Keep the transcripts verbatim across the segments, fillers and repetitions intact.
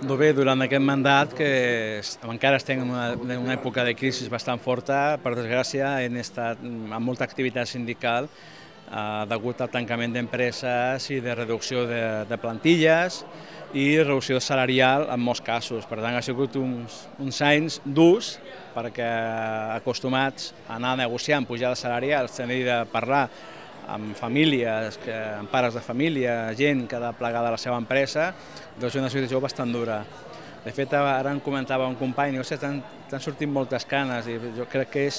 Doncs bé, durant aquest mandat, que encara estem en una, en una època de crisi bastant forta, per desgràcia hem estat amb molta activitat sindical eh, degut al tancament d'empreses i de reducció de, de plantilles i reducció salarial en molts casos. Per tant, ha sigut uns, uns anys durs perquè acostumats a anar negociant pujades salarials, tenir de parlar amb famílies, que, amb pares de família, gent que ha de plegar de la seva empresa, doncs és una situació bastant dura. De fet, ara em comentava un company, no sé, t'han sortit moltes canes i jo crec que és,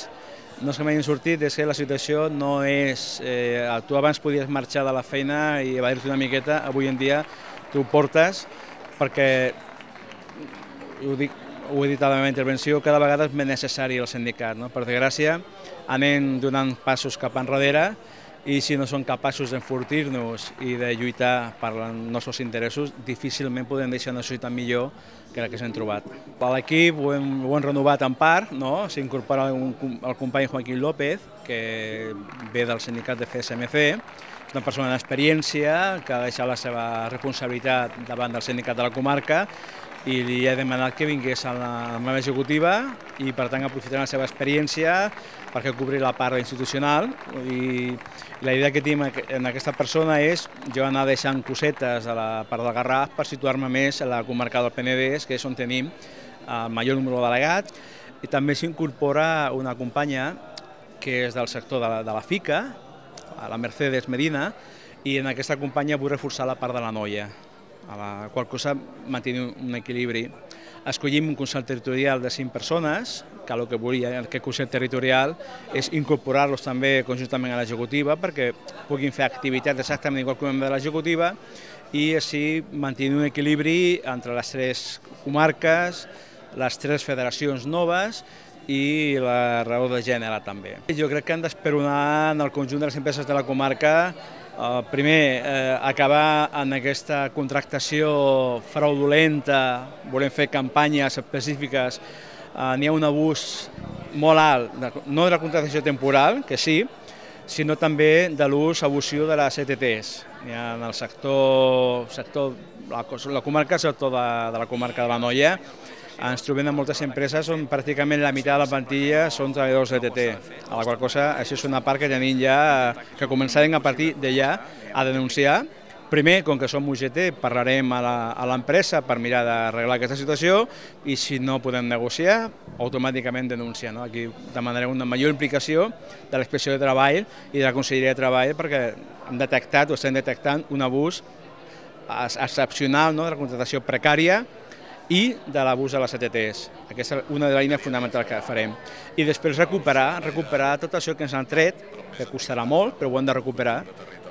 no és que m'hagin sortit, és que la situació no és... Eh, tu abans podies marxar de la feina i evadir-te una miqueta, avui en dia tu ho portes perquè, ho dic, ho he dit a la meva intervenció, cada vegada és més necessari el sindicat. No? Per desgràcia, anem donant passos cap enrere i si no som capaços d'enfortir-nos i de lluitar per els nostres interessos, difícilment podem deixar una societat millor que la que s'hem trobat. L'equip ho, ho hem renovat en part, no? S'incorpora el company Joaquín López, que ve del sindicat de C S M C, és una persona d'experiència que ha deixat la seva responsabilitat davant del sindicat de la comarca i li he demanat que vingués a la meva executiva i per tant aprofitarà la seva experiència perquè cobri la part institucional i la idea que tinc en aquesta persona és jo anar deixant cosetes a la part del Garraf per situar-me més a la comarca del Penedès, que és on tenim el major número de delegats, i també s'incorpora una companya que és del sector de la, de la FICA, la Mercedes Medina, i en aquesta companya vull reforçar la part de la noia, a la qual cosa mantenir un equilibri. Escollim un Consell Territorial de cinc persones, que el que volia aquest Consell Territorial és incorporar-los també conjuntament a l'executiva perquè puguin fer activitats exactament igual que un membre de l'executiva i així mantenir un equilibri entre les tres comarques, les tres federacions noves i la raó de gènere també. Jo crec que han d'esperonar en el conjunt de les empreses de la comarca Uh, primer, eh, acabar en aquesta contractació fraudulenta, volem fer campanyes específiques, uh, n'hi ha un abús molt alt, de, no de la contractació temporal, que sí, sinó també de l'ús abusiu de les E T Ts. Hi ha en el sector, sector la, la comarca, el sector de, de la comarca de l'Anoia, ens trobem en moltes empreses on pràcticament la meitat de la plantilla són treballadors de E T T, a la qual cosa això és una part que tenim ja, que començarem a partir d'allà a denunciar. Primer, com que som U G T, parlarem a l'empresa per mirar d'arreglar aquesta situació i si no podem negociar, automàticament denunciar. No? Aquí demanarem una major implicació de la Inspecció de Treball i de la Conselleria de Treball perquè hem detectat o estem detectant un abús excepcional, no? De la contractació precària i de l'abús de les E T Ts. Aquesta és una de les línies fonamentals que farem. I després recuperar, recuperar tot això que ens han tret, que costarà molt, però ho hem de recuperar,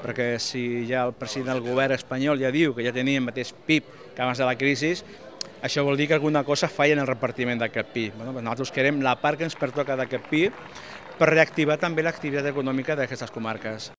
perquè si ja el president del govern espanyol ja diu que ja tenia el mateix P I B que abans de la crisi, això vol dir que alguna cosa falla en el repartiment d'aquest P I B. Bueno, nosaltres querem la part que ens pertoca d'aquest P I B per reactivar també l'activitat econòmica d'aquestes comarques.